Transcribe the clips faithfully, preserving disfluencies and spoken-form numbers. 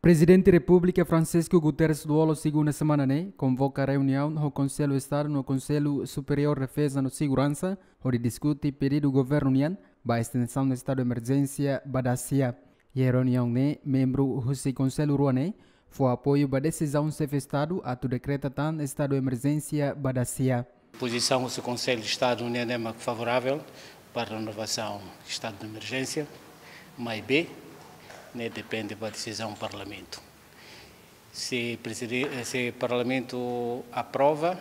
Prezidente Repúblika Francisco Guterres Lú-Olo, segunda semana ne'e, konvoka reuniaun ho Konsellu Estadu no Konsellu Superiór Defeza no Seguransa, hodi diskute pedidu governu nian ba estensaun estadu emerjénsia ba dasia. Iha reuniaun ne'e, membru husi konsellu rua ne'e fó apoiu ba desizaun xefe estadu atu dekreta tan estadu emerjénsia ba dasia. Pozisaun husi Konsellu Estadu ne'e mak favorável para renovasaun estadu de emerjénsia, maibé ne'e depende ba desizaun parlamentu. Se prezide-, se parlamentu aprova,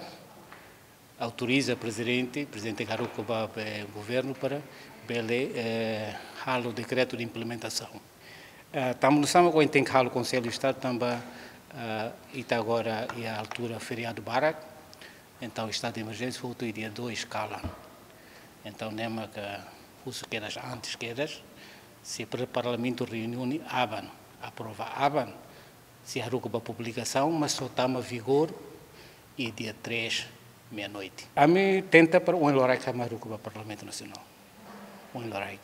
autoriza prezidente, prezidente haruka ba, eh, governu para bele, eh, halo dekretu de implementasaun. Eh, tanba nu'usá mak ohin tenke halo Konsellu Estadu tanba, eh, ita agora iha altura feriadu barak, entaun estadu de emerjénsia hotu iha dia dois kalan. Entaun ne'e mak husu kedas antes kedas, se pre-, parlamentu reúne aban, aprova aban, sei haruka ba publikasaun, mas só tama vigór iha dia três, meia-noite. Ami tenta para ohin loraik ami haruka ba Parlamentu Nasionál. Ohin loraik.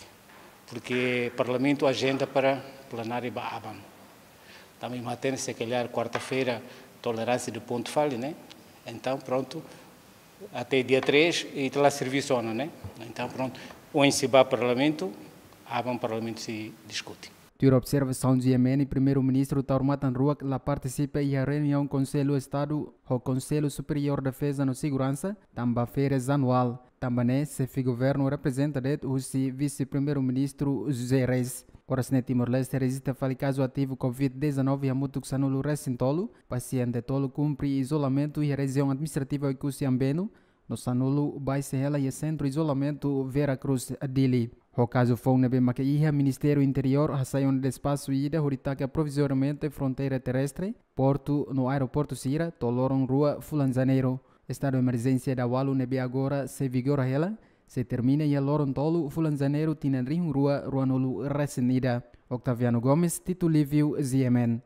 Porke parlamentu ajenda para plenária ba aban. Tanba imi hatene, se calhar kuarta-feira tolerância do ponto fali, né? Entaun, prontu, até dia três ita la servisu ona, né? Entaun, prontu, ohin sei ba parlamentu, aban parlamentu sei diskute. Tuir observasaun G M N, Primeiru-Ministru Taur Matan Ruak la partisipa iha reuniaun Konsellu Estadu ho Konsellu Superiór Defeza no Seguransa, tanba férias anuál. Tanba ne'e, xefe governu reprezenta de'it husi Vise-Primeiru-Ministru José Reis. Oras ne'e Timor-Leste rejista fali kazu ativu covid dezanove hamutuk sanulu-resin-tolu, pasiente tolu kumpre izolamentu iha rejiaun administrativa Oekusi Ambeno, no sanulu baixa hela iha sentru izolamentu Vera Cruz, Dili. Ho kazu foun ne'ebé maka iha, Ministériu Interiór hasai ona despaxu ida hodi taka provizoriamente fronteira terrestre, portu no aeroportu sira, to'o loron rua fulan Janeiru. Estadu emerjénsia dala ualu ne'ebé agora sei vigora hela, sei termina iha loron tolu fulan Janeiru tinan rihun rua ruanulu-resin-ida. Octaviano Gomes, Tito Livio, G M N.